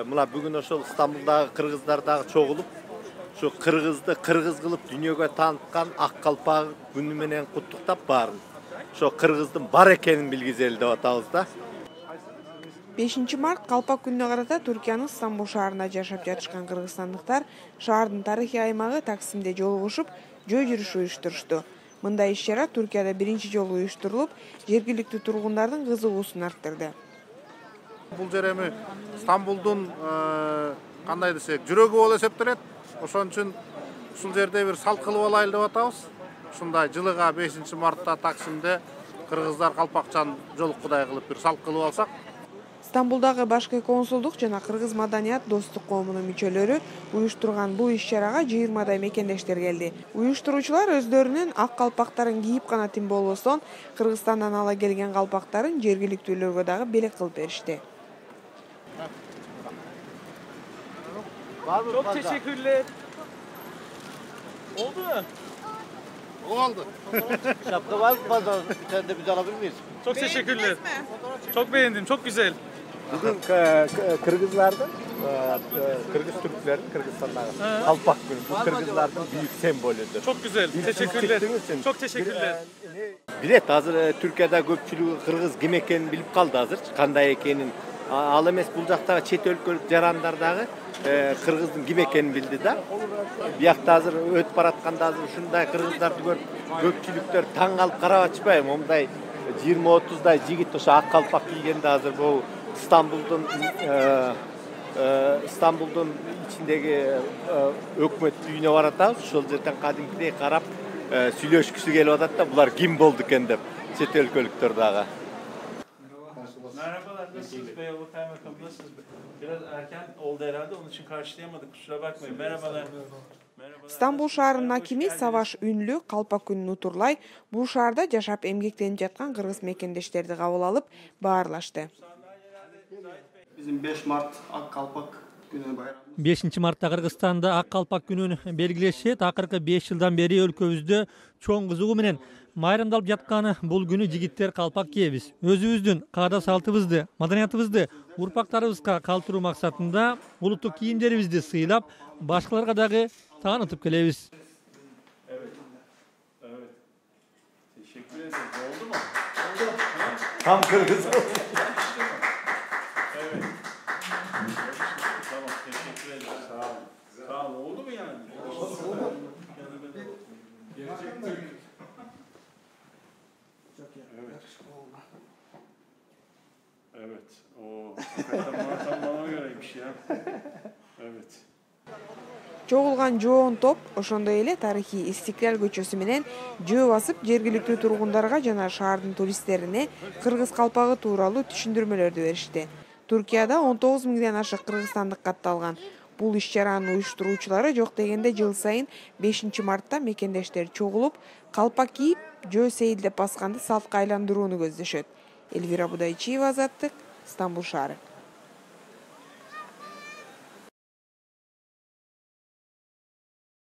Мына бүгүн ошол Стамбулдагы кыргыздар дагы чогулуп, ошо кыргызды кыргыз кылып дүйнөгө тааныткан Ак Калпак күнү менен куттуктап баарын. Ошо кыргыздын бар экенин билгизели деп атабыз да. 5 март Калпак күнүнө карата Түркиянын Стамбул шаарында жашап жатышкан кыргызстандыктар шаардын тарыхый аймагы Таксимде жолугушуп, жөө жүрүш уюштурушту. Мындай иш-чара Түркияда биринчи жолу уюштурулуп, жергиликтүү тургундардын кызыгуусун арттырды. Бул жер эми Стамбулдун кандай десек, жүрөгү болуп эсептелет. Ошон үчүн ушул жерде бир салт кылып алайлы деп атабыз. Ушундай жылыга 5 мартта Таксимде кыргыздар калпакчан жолуккудай кылып бир салт кылып алсак. Стамбулдагы башкы консулдук жана кыргыз маданият достук коомунун мүчөлөрү уюштурган бул иш-чарага 20дай мекендештер келди. Уюштуруучулар өздөрүнүн ак калпактарын кийип гана тим болбостон, Кыргызстандан ала келген калпактарын жергиликтүүлөргө дагы белек кылып беришти. Çok teşekkürler. Oldu mu? Oldu. Şapka var mı pazar? Bir tane de biz alabilir miyiz? Çok teşekkürler. Çok beğendim. Çok güzel. Bugün Kırgızlardan, Kırgız Türklerin Kırgızistan'da Kalpak günü. Bu Kırgızlardan büyük sembolüdür. Çok güzel. Teşekkürler. Çok teşekkürler. Bilet hazır Türkiye'de köpçülüğü Kırgız kim ekenini bilip kaldı hazır. Kanday ekenin. Al emes bul jaktagı çet өлкөлүк жарандардагы кыргыздын ким экенин билди да. Биякта азыр өтүп баратканда азыр ушундай кыргыздарды көрүп көпчүлүктөр таң калып карап атышпайбы? Момундай 20-30дай жигит ошо ак калпак кийгенде азыр бул Стамбулдун ичиндеги өкмөт үйүнө баратабыз. Ошол жерден кадимкидей карап сүйлөшкүсү келип атат да, булар ким болду экен деп чет өлкөлүктөр дагы. Merhabalar, nasılsınız Beyoğlu Kaymakam, nasılsınız? Biraz erken oldu herhalde, onun için karşılayamadık, kusura bakmayın. Merhabalar. Стамбул шаарынын акими Саваш Үнлү Калпак күнүн утурлай бул шаарда жашап эмгектенип жаткан кыргыз мекендештерди кабыл алып баарлашты. Bizim 5 Mart Ак Калпак күнү байрамы. 5 мартта Кыргызстанда Ак Калпак күнүн белгилешет. Акыркы 5 жылдан бери өлкөбүздө чоң кызыгуу менен майрамдалып жатканы бул күнү жигиттер калпак кийебиз. Өзүбүздүн каада салтыбызды, маданиятыбызды урпактарыбызга калтыруу максатында улуттук кийимдерибизди сыйлап, башкаларга дагы таанытып келебиз. Evet. Teşekkür ederim. Oldu mu? Tam Kırgız oldu. Evet. Tamam, teşekkür ederim. Sağ olun. Sağ olun. Oldu mu yani? Oldu. Gelecek Türk. Evet. Evet. O hakikaten bana göreymiş ya. Evet. Чогулган жоон топ ошондой эле тарыхый Истиклал көчөсү менен жөө басып, жергиликтүү тургундарга жана шаардын туристтерине кыргыз калпагы тууралуу түшүндүрмөлөрдү беришти. Туркияда 19 миңден ашык кыргызстандык катталган. Бул иш-чаранын уюштуруучулары жок дегенде жыл сайын 5 мартта мекендештер чогулуп, калпак кийип, жөө сейилдеп басканды салтка айландырууну көздөшөт. Элвира Будайчиева, Азаттык, Стамбул шаары.